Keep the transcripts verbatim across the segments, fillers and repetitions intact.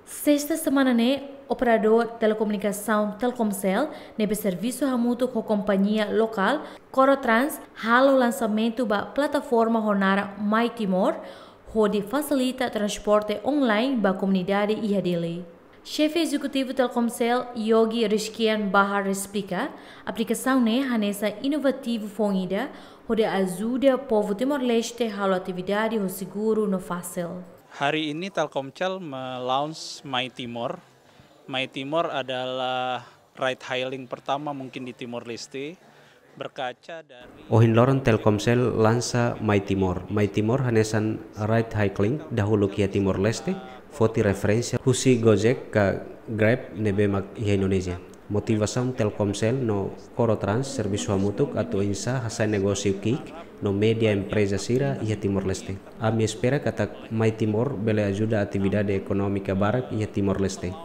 Sesta semana ne'e, operadór telekomunikasaun Telkomcel, ne'ebé servisu hamutuk ho kompañia lokál Corotrans, halo lansamentu ba plataforma ho naran My Timor, hodi fasilita transporte online ba komunidade iha Dili. Xefe Ezekutivu Telkomcel, Yogi Rizkian Bahar, esplika, aplikasaun ne'e hanesan inovativu foun ida, hodi ajuda povu Timor-Leste halo atividade ho seguru no fasil. Hari ini Telkomcel me-launch My Timor. My Timor adalah ride hailing pertama mungkin di Timor Leste. Berkaca dari Ohin loron Telkomcel lansa My Timor. My Timor hanesan ride hailing dahuluk iha Timor Leste, foti referénsia husi Gojek ka Grab ne'ebé mak iha Indonézia. Motivasaun Telkomcel no Corotrans servisu hamutuk atu oinsá hasa'e negósiu ki'ik no média empreza sira iha Timor Leste. Ami espera katak My Timor bele ajuda atividade ekonómika barak iha Timor Leste.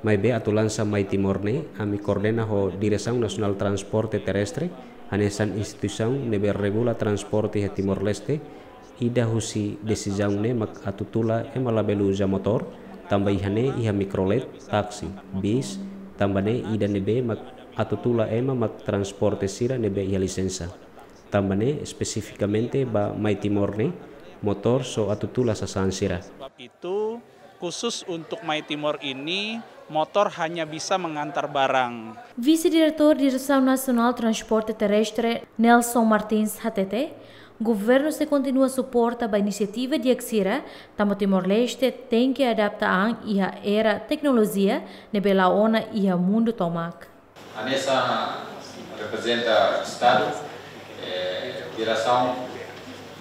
Maibé atu lansa My Timor ne'e, ami koordena ho Diresaun Nasionál Transporte Terrestre, hanesan instituisaun ne'ebé regula transporte iha Timor Leste, ida husi desizaun ne'e mak atu tula ema labele uza motór, tanba iha ne'e iha mikrolet, táksi, bis, tanba ne'e ida ne'ebé mak atu tula ema mak transporte sira ne'ebé iha lisensa. Tanba ne'e espesifikamente ba My Timor ne'e, motór só atu tula sasán sira. Sebab itu, khusus untuk My Timor ini, motor hanya bisa mengantar barang. Vise-Diretór Diresaun Nasionál Transporte Terrestre, Nelson Martins, hatete, governu sei kontinua suporta ba inisiativa di'ak sira, tanba Timor-Leste tenke adapta an iha era teknolojia ne'ebé la'o ona iha mundu tomak. Hanesan reprezenta Estadu, eh, diresaun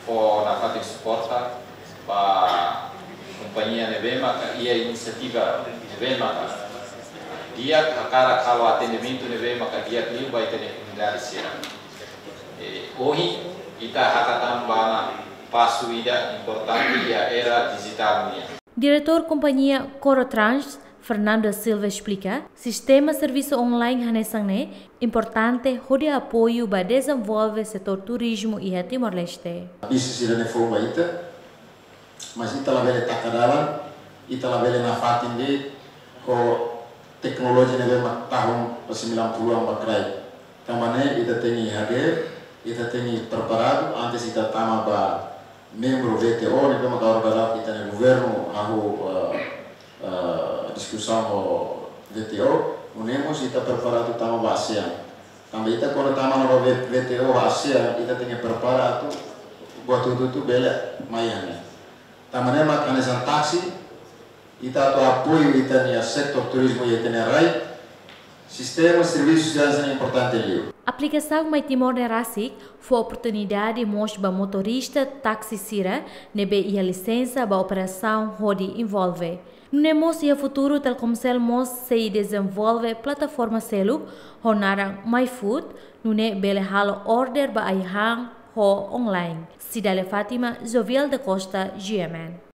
fó nafatin suporta ba kompañia ne'ebé maka iha inisiativa ne'ebé maka di'ak hakarak halo atendimentu ne'ebé maka di'ak liu ba ita-nia komunidade sira. Eh, ohin ita hakatan ba ona pasu ida importante iha era dijitál nian. Diretór kompañia Corotrans, Fernando Silva, esplika, sistema servisu online hanesan ne'e importante hodi apoiu ba dezenvolve setór turizmu iha Timor-Leste. Bisnis sira-ne'e foun ba ita, mas ita labele taka dalan, ita labele nafatin de'it ho teknolojia ne'ebé mak tahun sembilan puluhan ba kraik. Tanba ne'e ita tenke hadeer, ita tenke preparadu antes ita tama ba membru W T O, ne'ebé mak agora daudaun ita-nia governu hahú, eh, eh, diskusaun ho W T O, nune'e mós ita preparadu tama ba ASEAN. Tanba ita kuandu tama ona ba W-, W T O ASEAN, ita tenke prepara atu buat hotu-hotu bele mai iha ne'e. Tanba ne'e mak hanesan táksi, ita atu apoiu ita-nia setór turizmu iha ita-nia rai, sistema servisu sira hanesan ne'e importante liu. Aplikasaun My Timor ne'e rasik fó oportunidade mós ba motorista táksi sira ne'ebé iha lisensa ba operasaun hodi envolve. Nune'e mós iha futuru Telkomcel mós sei dezenvolve plataforma seluk ho naran My Food, nune'e bele halo order ba ai-han ho online. Cidália Fátima, Jovial da Costa, G M N.